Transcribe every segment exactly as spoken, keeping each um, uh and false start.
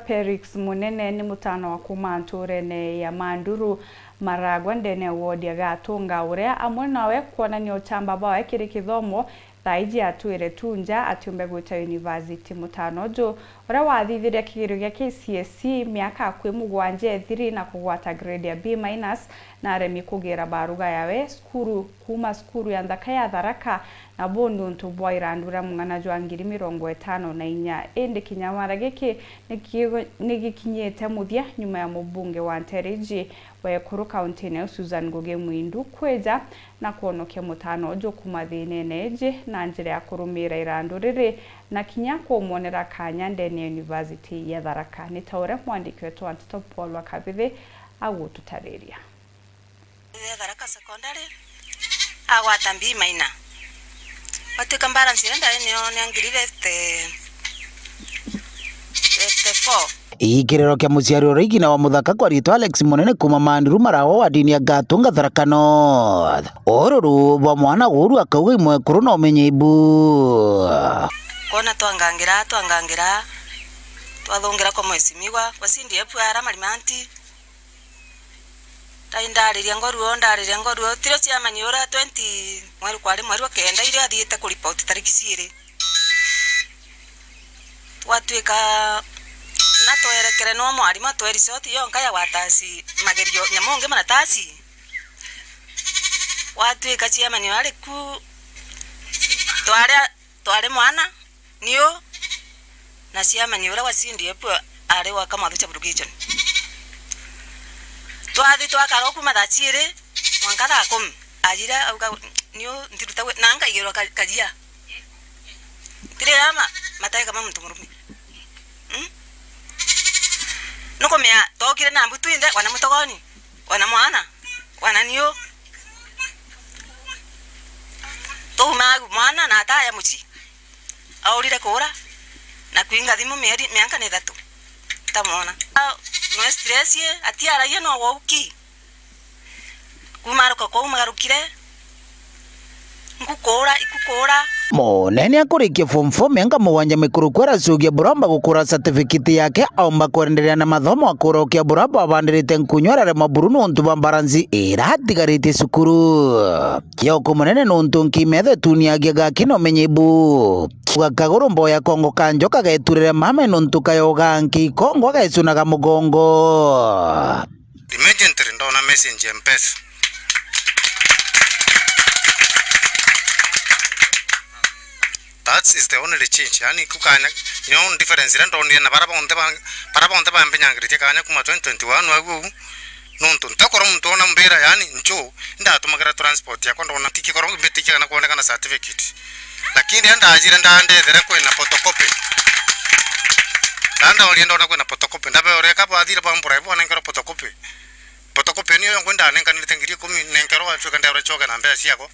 Felix Munene ni mutano wa kuuma ntuurene ya Manduru Maragwa ndene ya wodi ya Gatunga, uria amwe nawe kwonania uchamba bwawe kiri kithomo thaa iji atwire tu nja atiumbe gwita university. Mutano uju uria wathithirie kigerio gia K C S E miaka akui mugwanja ethiri na kugwata grade ya B minus, na aremi kugira baruga yawe cukuru kuuma cukuru ya nthaka ya Tharaka, na buu ni untu bwa irandu ria mung'ana jwa ngiri mirongo itano na inya. Indi kinya wara giki ni ki-, ni gikinyite muthia nyuma ya mubunge wa nteere iji wa ekuru kauntine ya Susan Ngugi Mwindu kwija na kwonokia mutano uju kuuma thiinene iji na njira ya kurumiira irandu riri na kinya kumwonera kanya ndene ya University ya Tharaka. Ni ta uria mwandiki wetu wa nteto Paul wa Kabithi agututariria. Tharaka Secondary, agwata B minor. Gwatuika balance iria ndari nayo ni ngiri fifty, fifty-four. Ikiriro kia muciari uria igina wa muthaka kwa ritwa Alex Munene kuuma Manduru Marawa wa dini ya Gatunga Tharaka North. Ururu bwa mwana uru akauga imwekuru na umenye ibu. Kona twangangira, twangangira, twathungira kwa mwesimigwa, kwa C D F ara Marimanti. Ndai ndariria ngoruo, ndariria ngoruo. Tirio chairman uria twenty, mweri kwari mweri wa kenda, irio athiite kuripoti tariki ciiri. Twatuika na twerekere no mwarimu atwe resort yonka ya gwatasi magerio, nyamu ungi manatasi. Gwatuika chairman ari ku, twari, twari mwana, niu, na chairman uria wa C D F ari wa Kamathu Sub-Location. Twathi twakara o kuuma thaa ciiri mwanka thaa kumi. Ajire auga, "Niu ntiruta wi-," na nkaigirwa ka-, karia. Tiri ama, mateka ma muntu murume. Mm? Nukumea, tokire na mbu twinthe, wana mutogoni, wana mwana, wana niu. Tuuma au, mwana na ataya mucii. Aurire kuura, na kwinga thimu mieri, mianka ni ithatu. Ntamwona. A, no stress ye, atiaragia no wauki. Kuuma aruka kwau magarukire, nkukuura, ikukuura. Munene akurikia form four mianka mugwanja mikuruku aracokia buromba gukura certificate yake, aumba kwenderea na mathomo, akurokia buromba abandirite nkunyu ararema buru nontu bwa balance iria atigaritie cukuru. Kioko munene nontu nkimetho ituniagia gaki na umenye ibu. Uga kaguru mboya kongo ka njoka geturire mame nontu kayoga nki kongo gecunaga mugongo. Immediately ndona message ya Mpesa. That is the only change. Yani, kukanya, you know, difference iria ndonire na bara bonthe ba, bara bonthe bambinyangiritie kanya kuma twenty twenty-one au, au, nontu ntakorwo muntu ona mbira, yani, ncho, ndatumagira transport yakwa, ndona tikikoro mbitikia kana kuonekana certificate. Lakini riria ndajire ndandethere kwina photocopy. Ndandaoria ndona kwina photocopy. Ndabeoria ka bwathire bambura, ibo banenkerwa photocopy. Photocopy niyo yongwe ndanenkanirite ngiri ikumi, nenkerwa, watuika ndeerwa icoke na mbeca ciakwa.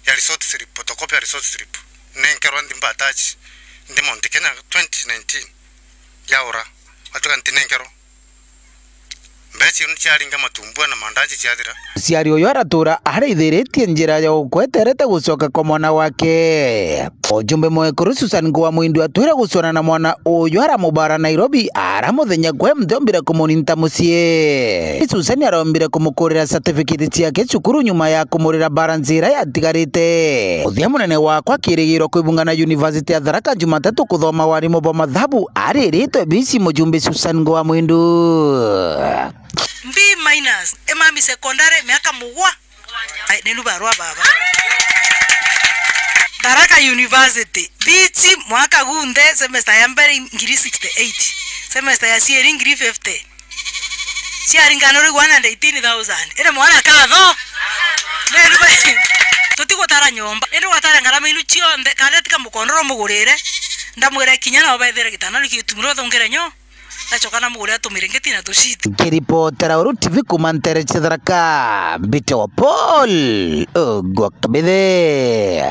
Ya result slip, photocopy ya result slip. Nenkerwa nthi mba attach, ndi Mount Kenya twenty nineteen. Yaura. Watuika ntinenkerwa. Mbeca iu ciaringa matumbua na mandaji ciathira. Muciari uyu aratura araithiritie njira ya ukweterete gucoka kwa mwana wake. Ujumbe mwekuru Susan Ngua Mwindu atwire gucwana na mwana uyu aramubara Nairobi, ara muthenya kwe mthe ombire kumuninta mucii. Susan arombire kumukurira certificate ciake cukuru nyuma ya kumurira balance iria yatigarite. Muthia munene wakwa akirigirwa kwibunga na University ya Tharaka Jumatatu kuthoma warimu bwa mathabu, ariritwe bisi mujumbe Susan Ngua Mwindu. B minus, Emami Secondary, miaka mugwa. Ai, ni nubarwa baba. Tharaka University, B C mwaka gunthe, semester ya mbere ngiri sixty-eight, semester ya cieri ngiri fifty. Ciaringana uri one hundred eighteen thousand. Ire mwana katho. Ni nuba-, tutigutara nyomba. Indi gwatara ngarama inu cionthe, kana tika mukondoro mugurire. Ndamwira kinya no bethere gitana, ni gitumiro thungire nyo. Ndacoka na mugure atumire ngeti na tuciti. Nkiripotera Uru T V kuma ntere cia Tharaka, mbite wa Paul Ogwa Kabithe.